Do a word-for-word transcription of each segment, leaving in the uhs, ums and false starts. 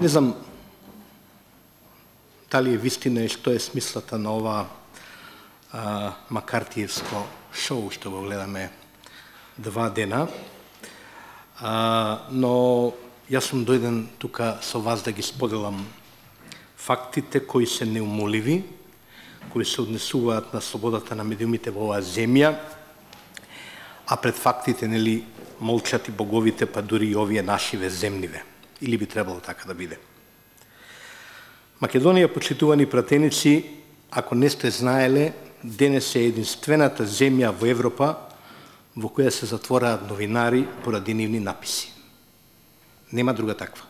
Не знам дали е вистина и што е смислата на ова а, макартиевско шоу што го гледаме два дена, а, но јас сум дојден тука со вас да ги споделам фактите кои се неумоливи, кои се однесуваат на слободата на медиумите во оваа земја, а пред фактите нели молчат и боговите, па дури и овие нашиве земниве. Или би требало така да биде. Македонија, почитувани пратеници, ако не сте знаеле, денес е единствената земја во Европа во која се затвораат новинари поради нивни написи. Нема друга таква.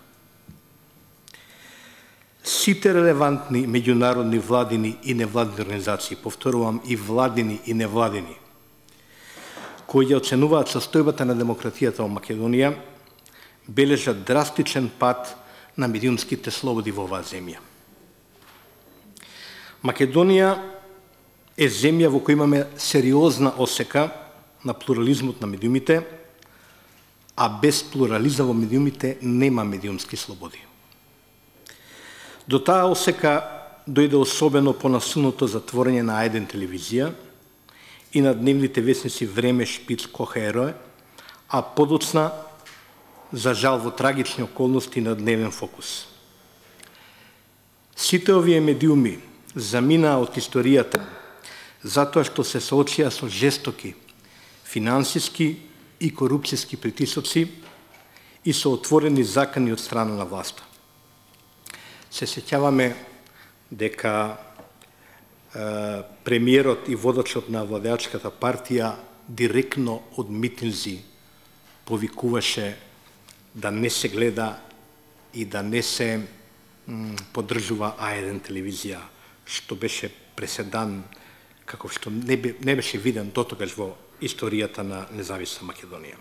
Сите релевантни меѓународни владини и невладини организации, повторувам и владини и невладини, кои ја оценуваат состојбата на демократијата во Македонија, бележат драстичен пат на медиумските слободи во оваа земја. Македонија е земја во која имаме сериозна осека на плурализмот на медиумите, а без плурализам во медиумите нема медиумски слободи. До таа осека дојде особено по насилното затворање на А еден телевизија и на дневните весници Време, Шпиц, Кохероe, а подоцна, за жал во трагични околности, на Дневен Фокус. Сите овие медиуми заминаа од историјата затоа што се соочија со жестоки финансиски и корупцијски притисоци и со отворени закани од страна на власта. Се сеќаваме дека е, премиерот и водачот на владеачката партија директно од митинзи повикуваше да не се гледа и да не се м, поддржува А еден телевизија, што беше преседан, како што не, бе, не беше виден дотогаш во историјата на независна Македонија.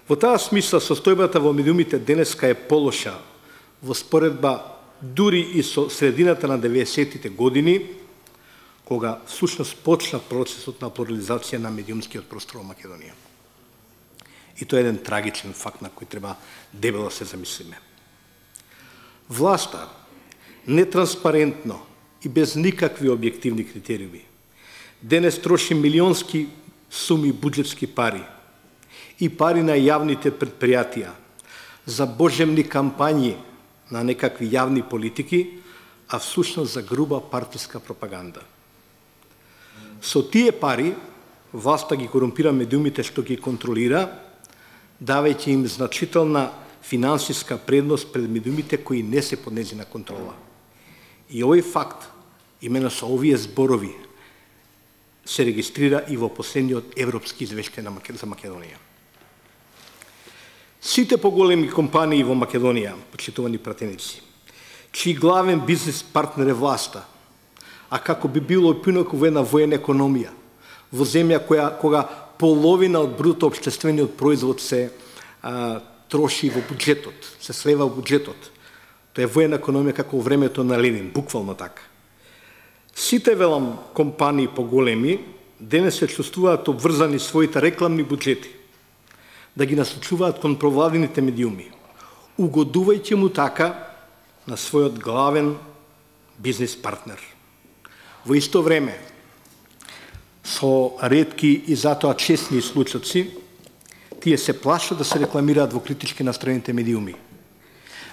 Во таа смисла, состојбата во медиумите денеска е полоша во споредба дури и со средината на деветдесеттите години, кога всушност почна процесот на плурализација на медиумскиот простор во Македонија. И тоа е еден трагичен факт на кој треба дебело да се замислиме. Власта нетранспарентно и без никакви објективни критериуми денес троши милионски суми буџетски пари и пари на јавните предпријатија за божемни кампањи на некакви јавни политики, а всушност за груба партиска пропаганда. Со тие пари власта ги корумпира медиумите што ги контролира, давајќи им значителна финансиска предност пред медиумите кои не се под нејзина контрола. И овој факт, именно со овие зборови, се регистрира и во последниот европски извештај за Македонија. Сите поголеми компании во Македонија, почитувани пратеници, чиј главен бизнес партнер е власта, а како би било пинаку во една воена економија, во земја која кога половина од бруто општествениот производ се а, троши во буџетот, се слева во буџетот. Тоа е воена економија како во времето на Ленин, буквално така. Сите, велам, компании поголеми денес се чувствуваат обврзани своите рекламни буџети да ги насочуваат кон провладините медиуми, угодувајќи му така на својот главен бизнес партнер. Во исто време, со ретки и затоа честни случаи, тие се плашат да се рекламираат во критички настроените медиуми,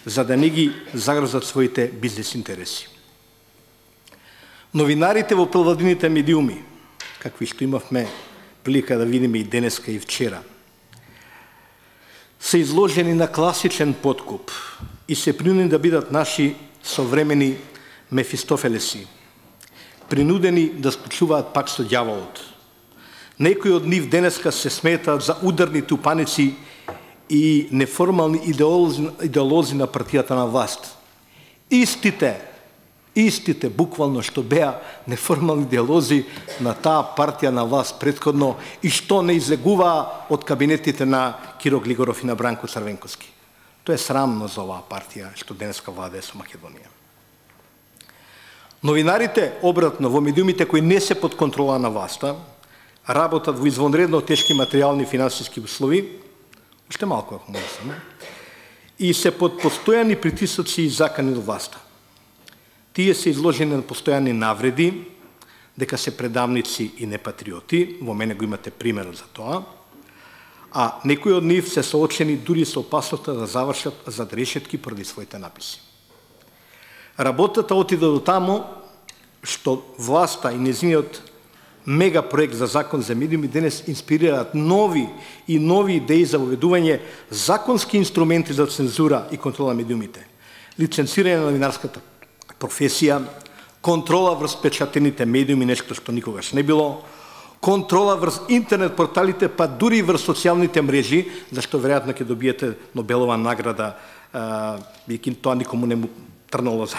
за да не ги загрозат своите бизнес интереси. Новинарите во провладините медиуми, какви што имавме прилика да видиме и денеска и вчера, се изложени на класичен подкуп и се принудени да бидат наши современи Мефистофелеси, принудени да спочуваат пак со ѓаволот. Некои од нив денеска се сметаат за ударни тупаници и неформални идеолози, идеолози на партијата на власт. Истите, истите буквално што беа неформални идеолози на таа партија на власт претходно и што не излегуваа од кабинетите на Киро Глигоров и на Бранко Црвенковски. Тоа е срамно за оваа партија што денеска владее со Македонија. Новинарите, обратно, во медиумите кои не се под контрола на власта, работат во извонредно тешки материјални и финансиски услови, уште малку ако можеме, и се под постојани притисоци и закани до власта. Тие се изложени на постојани навреди, дека се предавници и непатриоти, во мене го имате пример за тоа, а некои од нив се соочени дури со опасноста да завршат зад решетки поради своите написи. Работата отиде до тамо што власта и незиниот мега проект за закон за медиуми денес инспирираат нови и нови идеи за воведување законски инструменти за цензура и контрола на медиумите, лиценцирање на новинарската професија, контрола врз печатените медиуми, нешто што никогаш не било, контрола врз интернет порталите, па дури врз социјалните мрежи, зашто веројатно ќе добиете Нобелова награда, бидејќи тоа никому не му трнало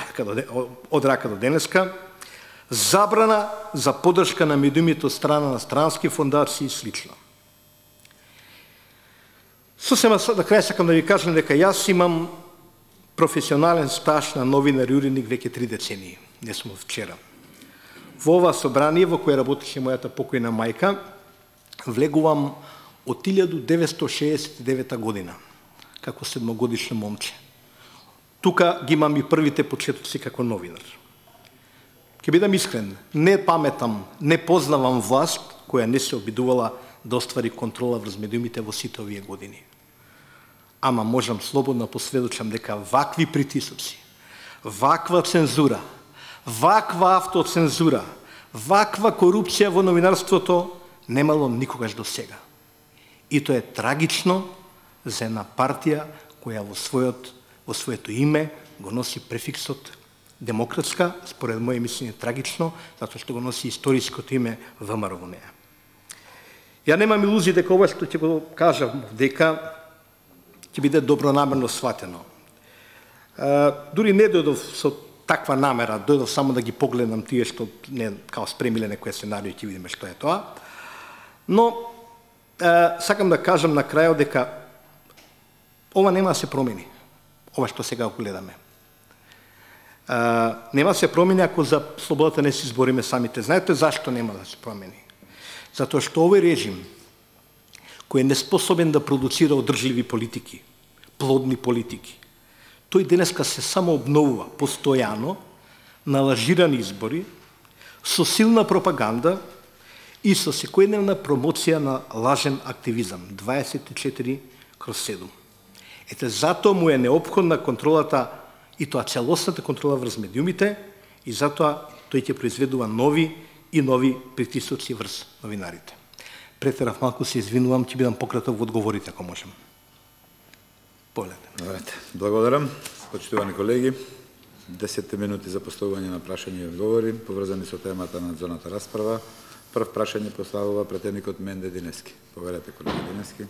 од рака до денеска, забрана за поддршка на медиумите од страна на странски фондации и слично. Сосема на крај сакам да ви кажам дека јас имам професионален стаж на новинар и уредник веќе три децении, не сум од вчера. Во ова собрание во кое работеше мојата покојна мајка, влегувам од илјаду деветстотини шеесет и девета година, како седмогодишно момче. Тука ги имам и првите почетоци како новинар. Ќе бидам искрен, не паметам, не познавам власт која не се обидувала да оствари контрола врз медиумите во сите овие години. Ама можам слободно посведочам дека вакви притисоци, ваква цензура, ваква автоцензура, ваква корупција во новинарството немало никогаш до сега. И тоа е трагично за една партија која во својот, во своето име го носи префиксот демократска, според моје мислење трагично, затоа што го носи историското име ВМРО во неа. Ја немам илузии дека ова што ќе го кажам дека ќе биде добронамерно сватено. Дури не дојдов со таква намера, дојдов само да ги погледам тие што не као спремиле некој сценарио и ќе видиме што е тоа. Но е, сакам да кажам на крајот дека ова нема да се промени, ова што сега го гледаме. Е, нема да се промени ако за слободата не се избориме самите. Знаете зашто нема да се промени? Затоа што овој режим кој е неспособен да продуцира одржливи политики, плодни политики, тој денеска се само обновува постојано на лажирани избори, со силна пропаганда и со секојдневна промоција на лажен активизам, дваесет и четири кроз седум. Ете, затоа му е неопходна контролата, и тоа целосната контрола врз медиумите, и затоа тој ќе произведува нови и нови притисоци врз новинарите. Претерав малку, се извинувам, ќе бидам пократок во одговорите, ако можем. Погледнете. Благодарам. Почитувани колеги, десет минути за поставување на прашања и одговори, поврзани со темата на надзорната расправа. Прв прашање поставува претедникот Менде Денески. Поверете, колега Денески.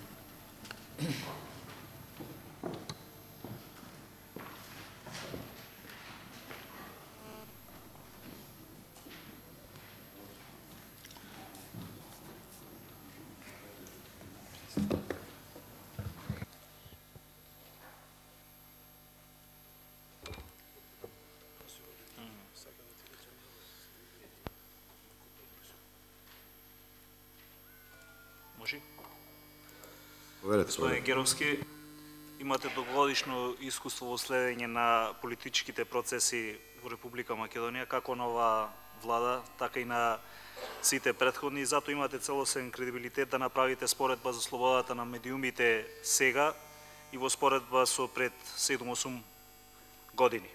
Господин Геровски, имате долгогодишно искуство во следење на политичките процеси во Република Македонија, како на оваа влада, така и на сите претходни, и затоа имате целосен кредибилитет да направите споредба за слободата на медиумите сега и во споредба со пред седум-осум години.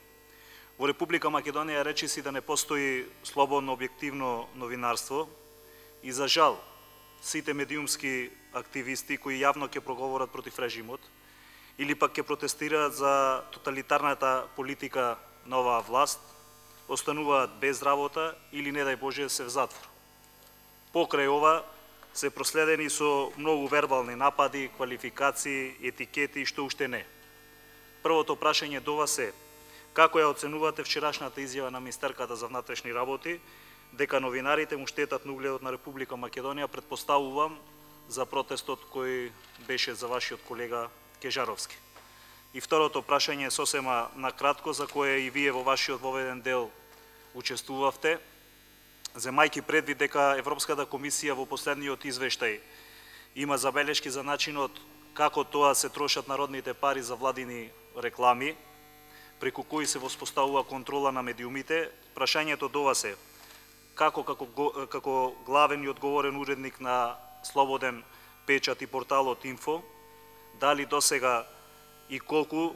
Во Република Македонија речиси да не постои слободно објективно новинарство и за жал сите медиумски активисти кои јавно ќе проговорат против режимот или пак ќе протестираат за тоталитарната политика на оваа власт, остануваат без работа или не дај Боже се в затвор. Покрај ова се проследени со многу вербални напади, квалификации, етикети и што уште не. Првото прашање до вас е: како ја оценувате вчерашната изјава на министерката за внатрешни работи дека новинарите му штетат на угледот на Република Македонија, претпоставувам за протестот кој беше за вашиот колега Кежаровски? И второто прашање е сосема на кратко, за кое и вие во вашиот воведен дел учествувавте, земајќи предвид дека Европската комисија во последниот извештај има забелешки за начинот како тоа се трошат народните пари за владини реклами, преку кои се воспоставува контрола на медиумите. Прашањето до вас е, како, како, како главен и одговорен уредник на Слободен печат и порталот Инфо, дали досега и колку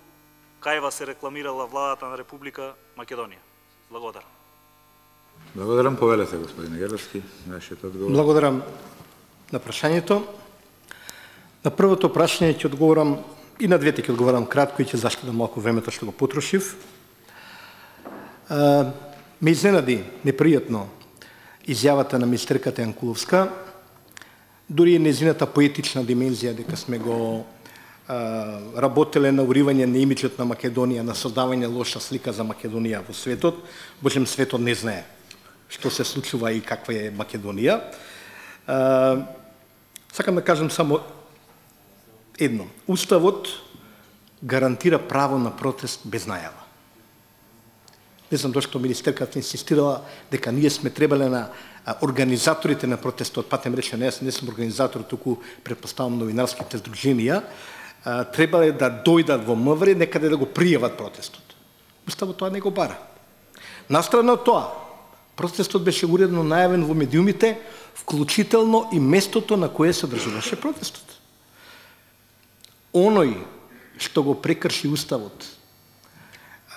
кај вас се рекламирала владата на Република Македонија? Благодарам. Благодарам, повелете, господине Геровски, вашиот одговор. Благодарам на прашањето. На првото прашање ќе одговорам, и на двете ќе одговорам кратко и ќе заштедам малку времето што го потрошив. А, ме изненади непријатно изјавата на министерката Јанкуловска, дури и незината поетична димензија дека сме го а, работеле на уривање на имиджот на Македонија, на создавање лоша слика за Македонија во светот. Божем, светот не знае што се случува и каква е Македонија. А, сакам да кажам само едно. Уставот гарантира право на протест без најава. Не знам зашто министерката инсистирала дека ние сме требале на организаторите на протестот, патем рече, не, не сум организатор, туку предпоставам новинарските здруженија, требале да дојдат во МВР, некаде да го пријават протестот. Уставот тоа не го бара. Настрана од тоа, протестот беше уредно најавен во медиумите, вклучително и местото на кое се одржуваше протестот. Оној што го прекрши уставот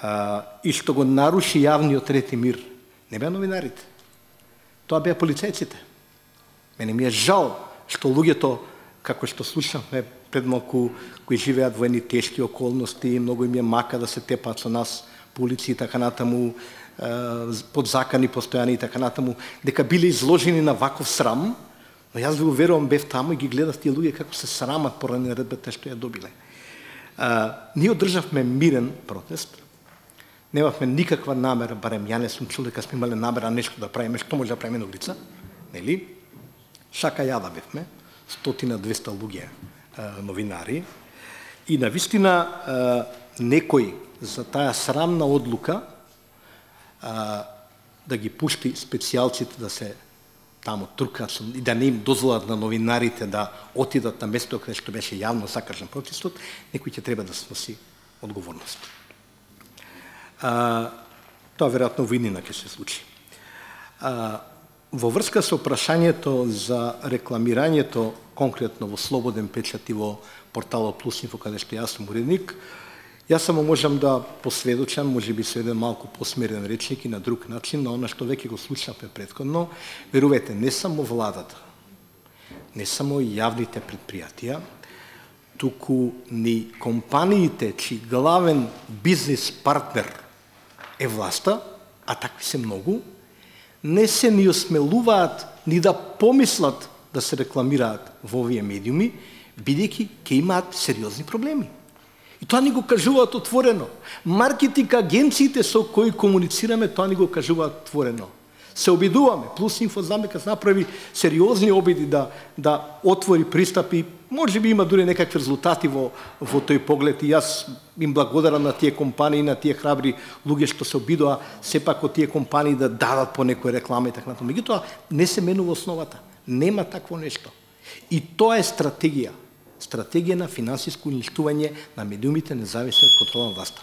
а, и што го наруши јавниот ред и мир, не беа новинарите. Тоа беа полицајците. Мене ми е жал што луѓето, како што слушнавме пред малку, кои живеат во едни тешки околности, многу им е мака да се тепаат со нас по улици и така натаму, под закани постојани и така натаму, дека биле изложени на ваков срам, но јас ви уверувам, бев таму и ги гледав тие луѓе како се срамат поради наредбата што ја добиле. А, ние одржавме мирен протест, немавме никаква намера, барем ја не сум чул дека сме имале намера нешто да правиме, што може да правиме на улица, нели? Шака јада бевме, стотина двеста луѓе а, новинари, и навистина а, некој за таа срамна одлука а, да ги пушти специјалците да се таму туркат и да не им дозволат на новинарите да отидат на место каде што беше јавно закажан протестот, некој ќе треба да сноси одговорност. А, тоа веројатно во иднина ќе се случи. А, во врска со прашањето за рекламирањето конкретно во Слободен печат и во порталот Плюс Инфо, каде што јас сум уредник, јас само можам да посведочам, може би со еден малку посмерен речник и на друг начин, на она што веќе го слушнавме претходно. Верувате, не само владата, не само јавните предпријатија, туку ни компаниите, чиј главен бизнес партнер е власта, а такви се многу, не се ни осмелуваат ни да помислат да се рекламираат во овие медиуми, бидејќи ќе имаат сериозни проблеми. И тоа ни го кажуваат отворено. Маркетинг агенциите со кои комуницираме, тоа ни го кажуваат отворено. Се обидуваме. Плюс Инфо знаме кога направи сериозни обиди да, да отвори пристапи, може би има дури некакви резултати во, во тој поглед и јас им благодарам на тие компании, на тие храбри луѓе што се обидоа сепак од тие компании да дадат по некој реклама и така натаму. Меѓутоа не се менува основата. Нема такво нешто. И тоа е стратегија. Стратегија на финансиско уништување на медиумите независни од контрола на власта.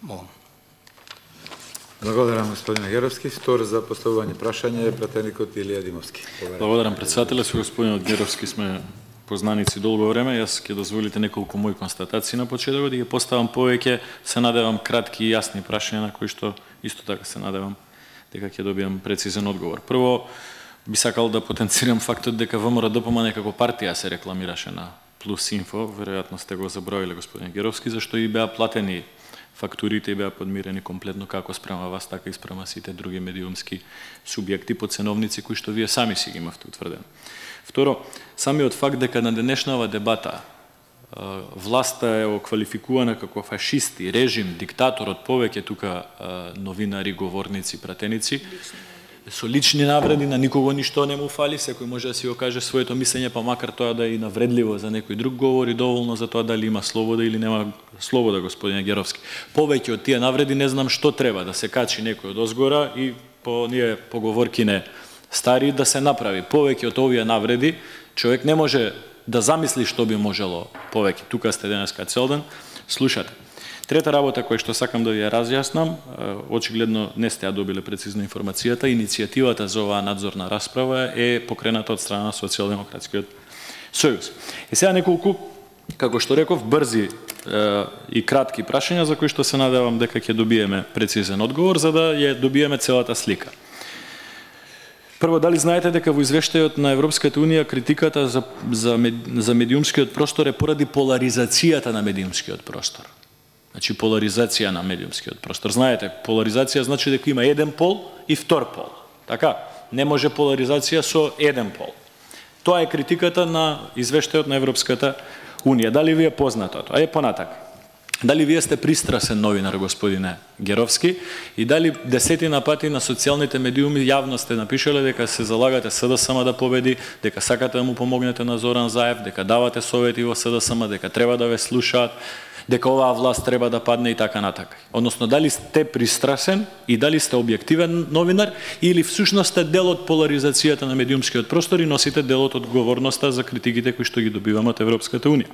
Молам. Благодарам, господине Геровски. Втор за поставување прашање е пратеникот Илија Димовски. Благодарам, председателе. Со господинот Геровски сме познаници долго време. Јас ќе дозволите неколку мои констатации на почетокот и ќе поставам повеќе, се надевам, кратки и јасни прашања на кои што исто така се надевам дека ќе добијам прецизен одговор. Прво, би сакал да потенцирам фактот дека ВМРО-ДПМ некако партија се рекламираше на Плюс Инфо, веројатно сте го заброиле, господин Геровски, зашто и беа платени фактурите и беа подмирени комплетно како спрема вас, така и спрема сите други медиумски субјекти по ценовници кои што вие сами си ги имавте утврдено. Второ, самиот факт дека на денешнава дебата власта е оквалификувана како фашисти, режим, диктатор од повеќе тука новинари, говорници, пратеници, со лични навреди, на никого ништо не му фали, секој може да си го каже своето мислење, па макар тоа да е и навредливо за некој друг, говори доволно за тоа дали има слобода или нема слобода, господине Геровски. Повеќе од тие навреди не знам што треба, да се качи некој од озгора и по ние поговоркине стари да се направи. Повеќе од овие навреди човек не може да замисли што би можело повеќе. Тука сте денеска цел ден, слушате. Трета работа која што сакам да ви ја разјаснам, очигледно не сте ја добиле прецизно информацијата, иницијативата за оваа надзорна расправа е покрената од страна на Социјалдемократскиот сојуз. И сега неколку, како што реков, брзи е, и кратки прашања за кои што се надевам дека ќе добиеме прецизен одговор за да ја добиеме целата слика. Прво, дали знаете дека во извештајот на Европската унија критиката за за, за медиумскиот простор е поради поларизацијата на медиумскиот простор? Значи поларизација на медиумскиот простор. Знаете, поларизација значи дека има еден пол и втор пол. Така? Не може поларизација со еден пол. Тоа е критиката на извештајот на Европската унија. Дали ви е познато тоа? Е понатака. Дали вие сте пристрасен новинар, господине Геровски, и дали десетина пати на социјалните медиуми јавно сте напишале дека се залагате СДСМ да победи, дека сакате да му помогнете на Зоран Заев, дека давате совети во СДСМ, дека треба да ве слушаат, дека оваа власт треба да падне и така натака. Односно, дали сте пристрасен и дали сте објективен новинар или всушност сте дел од поларизацијата на медиумскиот простор и носите дел од одговорноста за критиките кои што ги добиваме од Европската унија.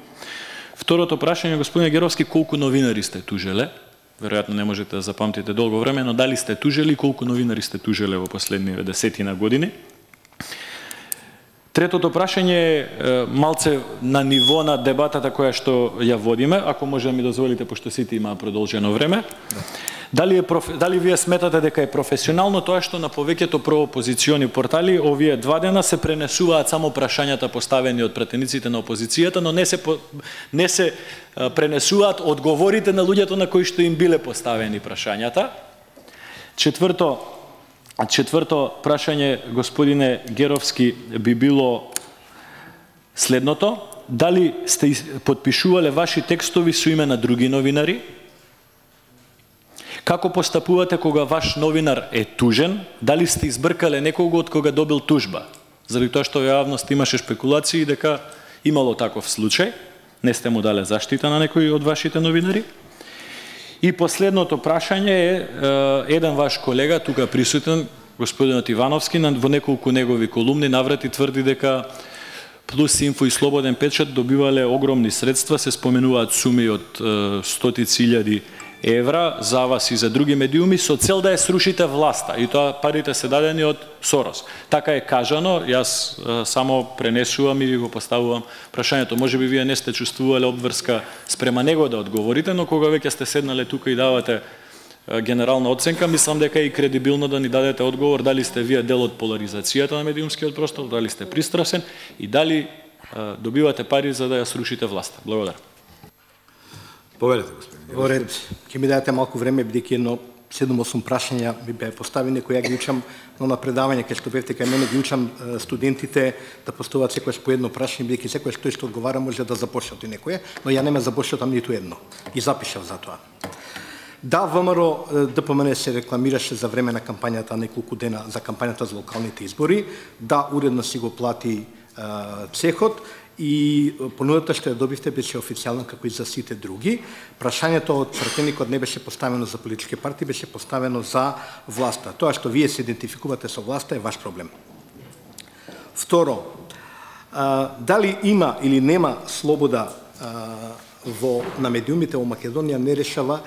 Второто прашање, господине Геровски, колку новинари сте тужеле? Веројатно не можете да запамтите долго време, но дали сте тужели и колку новинари сте тужеле во последниве десетина години? Третото прашање е малце на ниво на дебатата која што ја водиме, ако може да ми дозволите, пошто сите имаа продолжено време. Да. Дали, е, дали вие сметате дека е професионално тоа што на повеќето проопозициони портали овие два дена се пренесуваат само прашањата поставени од пратениците на опозицијата, но не се, не се пренесуваат одговорите на луѓето на кои што им биле поставени прашањата? Четврто, четврто прашање, господине Геровски, би било следното. Дали сте подпишувале ваши текстови со име на други новинари? Како постапувате кога ваш новинар е тужен? Дали сте избркале некого од кога добил тужба? Заради тоа што во јавност имаше шпекулации дека имало таков случај, не сте му дале заштита на некои од вашите новинари? И последното прашање е, е еден ваш колега, тука присутен, господинот Ивановски, во неколку негови колумни наврати тврди дека Плюс Инфо и Слободен печат добивале огромни средства, се споменуваат суми од стотици илјади евра за вас и за други медиуми со цел да ја срушите власта, и тоа парите се дадени од Сорос. Така е кажано, јас а, само пренесувам и ви го поставувам прашањето. Може би вие не сте чувствувале обврска спрема него да одговорите, но кога веќе сте седнале тука и давате а, генерална оценка, мислам дека е и кредибилно да ни дадете одговор дали сте вие дел од поларизацијата на медиумскиот простор, дали сте пристрасен и дали а, добивате пари за да ја срушите власта. Благодарам. Повелете, господин. Во ред, ќе ми дадете малку време, бидејќи едно седум-осум прашања ми беа поставени, кои ја ги учам на предавање, кај што бевте кај мене, ги учам студентите да поставуваат секојаш по едно прашање, бидејќи секојаш тој што одговара може да започне од некое, но ја не ме започнатам ниту едно. Ги запишав за тоа. Да, ВМРО ДПМН се рекламираше за време на кампањата неколку дена за кампањата за локалните избори. Да, уредно си го плати цехот. И понудата што ја добивте беше официјална како и за сите други. Прашањето од пратеникот не беше поставено за политички партии, беше поставено за власта. Тоа што вие се идентификувате со власта е ваш проблем. Второ, а, дали има или нема слобода а, во на медиумите во Македонија не решава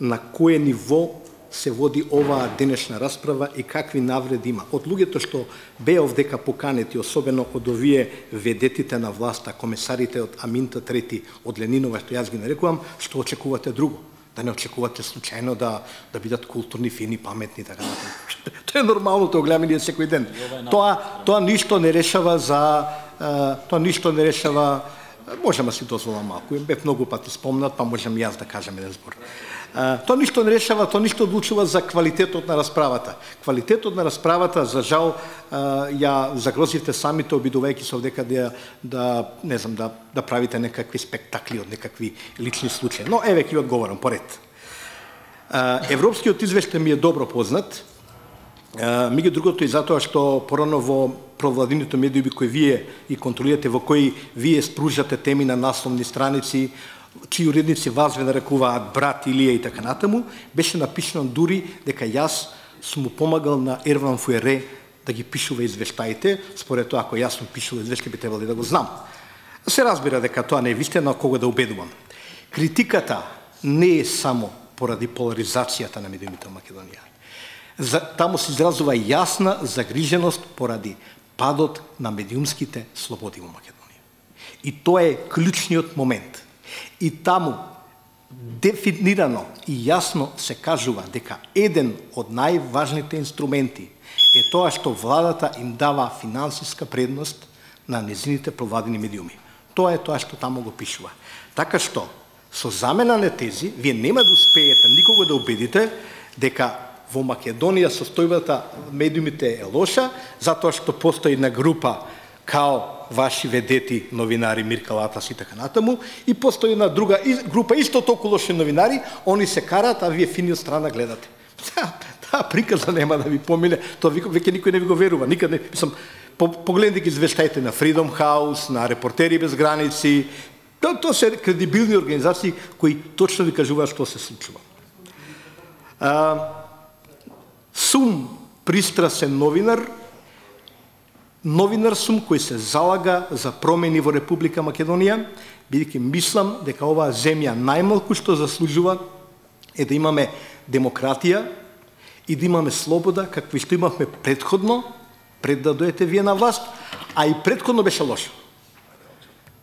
на кое ниво се води оваа денешна расправа и какви навреди има. Од луѓето што беа овдека поканети, особено од овие ведетите на власта, комесарите од Аминта Трети, од Ленинова, што јас ги нарекувам, што очекувате друго? Да не очекувате случајно да да бидат културни, фини, паметни, така натаму. Тоа е нормално, тоа гледаме ние секој ден. Тоа тоа ништо не решава за тоа ништо не решава. Можам да си дозволам малку. Бев многу пати спомнат, па можам јас да кажам еден збор. Uh, тоа ништо не решава, тоа ништо одлучува за квалитетот на расправата. Квалитетот на расправата, за жал, uh, ја загрозивте самите, обидувајќи се овдека да, да, не знам, да, да правите некакви спектакли од некакви лични случаи. Но еве ќе одговорам поред. Uh, Европскиот извештај ми е добро познат. Uh, меѓу другото и затоа што порано во провладините медиуми кои вие и контролирате, во кои вие спружате теми на насловни страници, чии уредници вас ве нарекуваат брат Илија и така натаму, беше напишано дури дека јас сум му помагал на Ерван Фуере да ги пишува извештаите. Според тоа, ако јас сум пишувал извештаи, би требало да го знам. Се разбира дека тоа не е вистина, кога да убедувам. Критиката не е само поради поларизацијата на медиумите во Македонија. За, таму се изразува јасна загриженост поради падот на медиумските слободи во Македонија. И тоа е клучниот момент. И таму дефинирано и јасно се кажува дека еден од најважните инструменти е тоа што владата им дава финансиска предност на незините провладени медиуми. Тоа е тоа што таму го пишува. Така што, со замена на тези, вие нема да успеете никого да убедите дека во Македонија состојбата медиумите е лоша, затоа што постои на група као ваши ведети новинари Мирка Латас и така натаму, и постои една друга група исто толку лоши новинари, они се караат, а вие фини од страна гледате. Таа приказа нема да ви помине, тоа веќе никој не ви го верува, никад не, мислам, погледнете ги извештаите на Freedom House, на Репортери без граници, тоа то се кредибилни организации кои точно ви кажуваат што се случува. А, сум пристрасен новинар, новинар сум кој се залага за промени во Република Македонија, бидејќи мислам дека оваа земја најмалку што заслужува е да имаме демократија и да имаме слобода, какви што имавме предходно, пред да дојдете вие на власт, а и предходно беше лошо.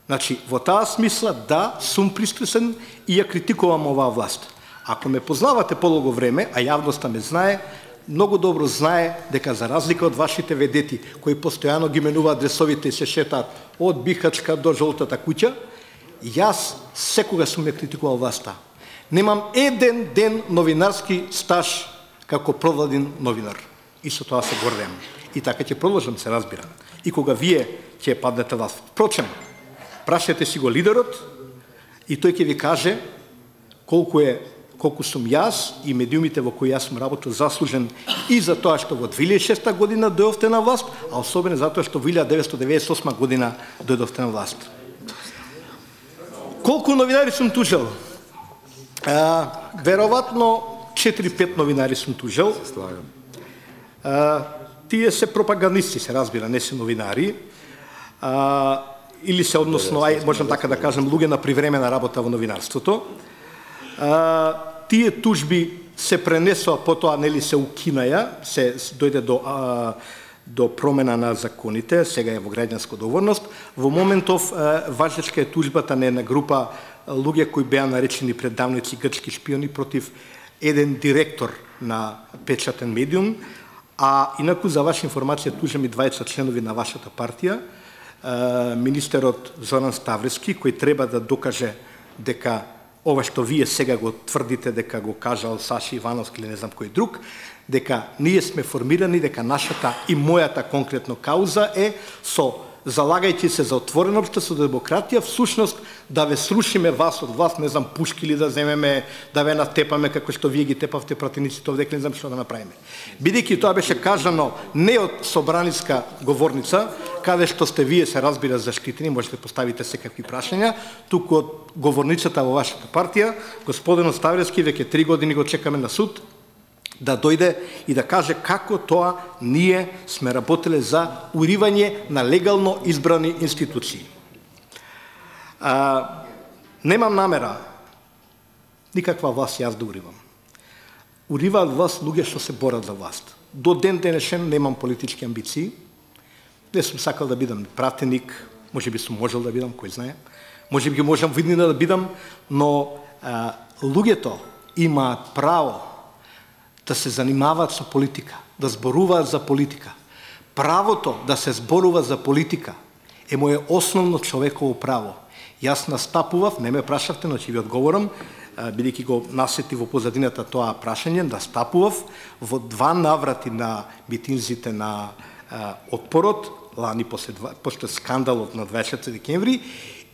Значи, во таа смисла, да, сум пристрасен и ја критикувам оваа власт. Ако ме познавате подолго време, а јавноста ме знае, многу добро знае дека за разлика од вашите ведети, кои постојано ги менуваат адресовите и се шетаат од Бихачка до Жолтата куќа, јас секогаш сум ја критикувал власта. Немам еден ден новинарски стаж како провладен новинар. И со тоа се гордеам. И така ќе продолжам, се разбира. И кога вие ќе паднете власт. Впрочем, прашајте си го лидерот и тој ќе ви каже колку е колку сум јас и медиумите во кои јас сум работил заслужен и за тоа што во две илјади и шеста година дојдовте на власт, а особено затоа што во илјада деветстотини деветдесет и осма година дојдовте на власт. Колку новинари сум тужел? А, веројатно четири-пет новинари сум тужел. Се слагам. А, тие се пропагандисти, се разбира, не се новинари. А, или се односно, ај, можам така да кажам, луѓе на привремена работа во новинарството. А, тие тужби се пренесоа, потоа нели се укинаја, се дојде до а, до промена на законите, сега е во граѓанска одговорност. Во моментов а, важечка е тужбата на една група луѓе кои беа наречени предавници грчки шпиони против еден директор на печатен медиум, а инаку за ваша информација тужам и дваесет членови на вашата партија, а, министерот Зоран Ставрески, кој треба да докаже дека ова што вие сега го тврдите дека го кажал Саши Ивановски или не знам кој друг, дека ние сме формирани, дека нашата и мојата конкретно кауза е со залагајќи се за отворено општество, демократија, всушност да ве срушиме вас од власт, не знам, пушки ли да земеме, да ве натепаме како што вие ги тепавте пратениците овде, не знам што да направиме. Бидејќи тоа беше кажано не од собраниска говорница, каде што сте вие се разбира заштитени, можете поставите секакви прашања, туку од говорницата во вашата партија, господинот Ставрески, веќе три години го чекаме на суд, да дојде и да каже како тоа ние сме работеле за уривање на легално избрани институции. А, немам намера никаква власт јас да уривам. Уриваат власт луѓе што се борат за власт. До ден денешен немам политички амбиции. Не сум сакал да бидам пратеник, може би сум можел да бидам, кој знае. Може би можам виднина да бидам, но а, луѓето имаат право да се занимаваат со политика, да зборуваат за политика. Правото да се зборува за политика е моје основно човеково право. Јас настапував, не ме прашавте, но ќе ви одговорам, бидејќи го насети во позадината тоа прашање, настапував во два наврати на митинзите на а, отпорот, лани после, после скандалот на дваесет и четврти декември,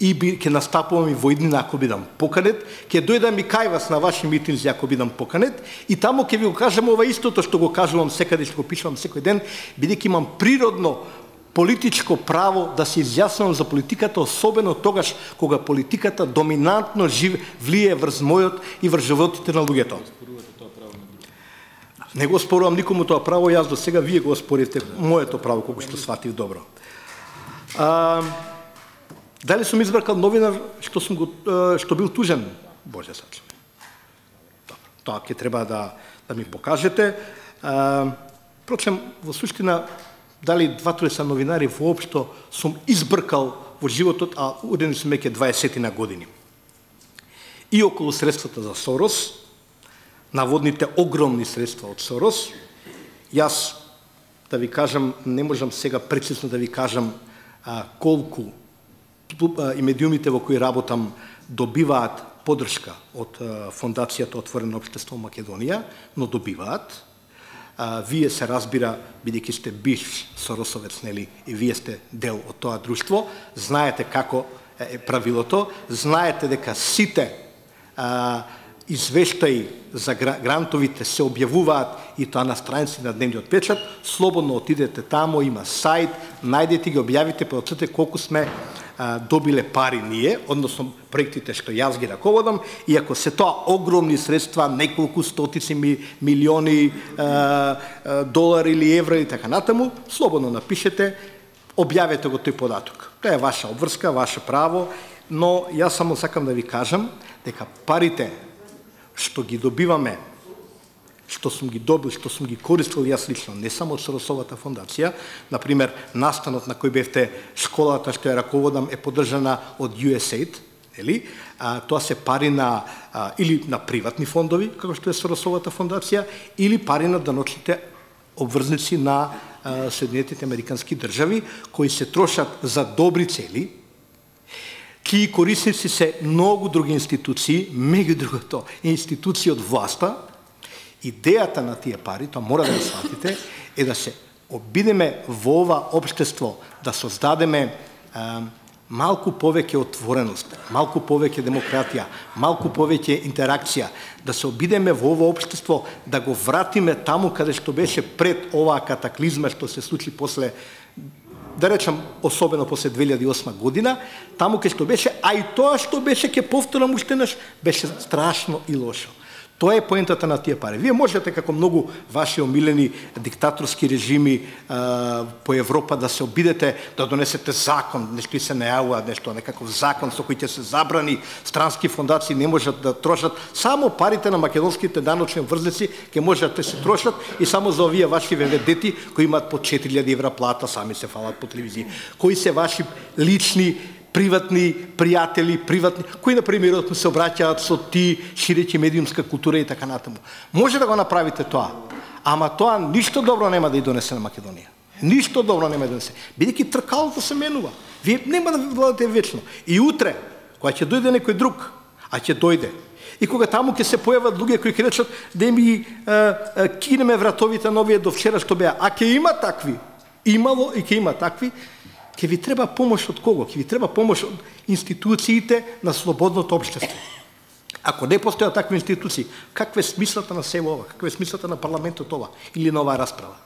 и би, ќе настапувам и во иднина ако бидам поканет, ќе дојдам и кај вас на ваши митинзи ако бидам поканет, и таму ќе ви го кажам ова истото што го кажувам секаде, што го пишувам секој ден, бидејќи имам природно политичко право да се изјаснувам за политиката, особено тогаш кога политиката доминантно жив, влие врз мојот и врз животите на луѓето. Не го спорувам никому тоа право, јас до сега вие го спорите моето право, колку што сватив добро. А, Дали сум избркал новинар што сум го што бил тужен? Боже сачува. Добро, тоа ќе треба да да ми покажете. Впрочем, во суштина, дали два-тројца новинари воопшто сум избркал во животот, а удени сум веќе дваесет на години. И околу средствата за Сорос, наводните огромни средства од Сорос, јас, да ви кажам, не можам сега прецизно да ви кажам а, колку а, и медиумите во кои работам добиваат поддршка од а, Фондацијата Отворено општество Македонија, но добиваат. А, вие се разбира, бидејќи сте бивш Соросовец, нели, и вие сте дел од тоа друштво, знаете како е правилото, знаете дека сите а, извештаи за грантовите се објавуваат и тоа на страници на Дневниот печат, слободно отидете тамо, има сајт, најдете ги, објавите, процете колку сме а, добиле пари ние, односно проектите што јас ги раководам, и ако се тоа огромни средства, неколку стотици ми, милиони а, а, долари или евра и така натаму, слободно напишете, објавете го тој податок. Тоа е ваша обврска, ваше право, но јас само сакам да ви кажам дека парите што ги добиваме, што сум ги добил, што сум ги користил јас лично, не само од Соросовата фондација, например, настанот на кој бевте школата што ја раководам е поддржана од ю ес ей ай ди, ели? А, тоа се пари на а, или на приватни фондови, како што е Соросовата фондација, или пари на даночните обврзници на а, Соединетите Американски држави, кои се трошат за добри цели, чии корисници се многу други институции, меѓу другото институции од власта. Идејата на тие пари, тоа мора да го сватите, е да се обидеме во ова општество, да создадеме а, малку повеќе отвореност, малку повеќе демократија, малку повеќе интеракција, да се обидеме во ова општество, да го вратиме таму каде што беше пред оваа катаклизма што се случи после, да речам, особено после две илјади и осма година, таму кај што беше, а и тоа што беше, ќе повторам уште наш, беше страшно и лошо. Тоа е поентата на тие пари. Вие можете, како многу ваши омилени диктаторски режими а, по Европа, да се обидете да донесете закон, нешто и се најавува, нешто некаков закон со кој ќе се забрани странски фондации не можат да трошат, само парите на македонските даночни врзници ќе можат да се трошат и само за овие ваши веведети кои имаат по четири илјади евра плата, сами се фалат по телевизија, кои се ваши лични приватни пријатели, приватни, кои на примерот се обраќаат со ти, ширејќи медиумска култура и така натаму. Може да го направите тоа, ама тоа ништо добро нема да и донесе на Македонија. Ништо добро нема да донесе. Бидејќи тркалото се менува. Вие нема да владате вечно. И утре, кога ќе дојде некој друг, а ќе дојде, и кога таму ќе се појават луѓе кои ќе речат да ми кинеме вратовите на овие до вчера што беа, а ќе има такви, имало и ќе има такви, ќе ви треба помош од кого? Ќе ви треба помош од институциите на слободното општество. Ако не постојат такви институции, каква е смислата на село ова? Каква е смислата на парламентот ова? Или на оваа расправа?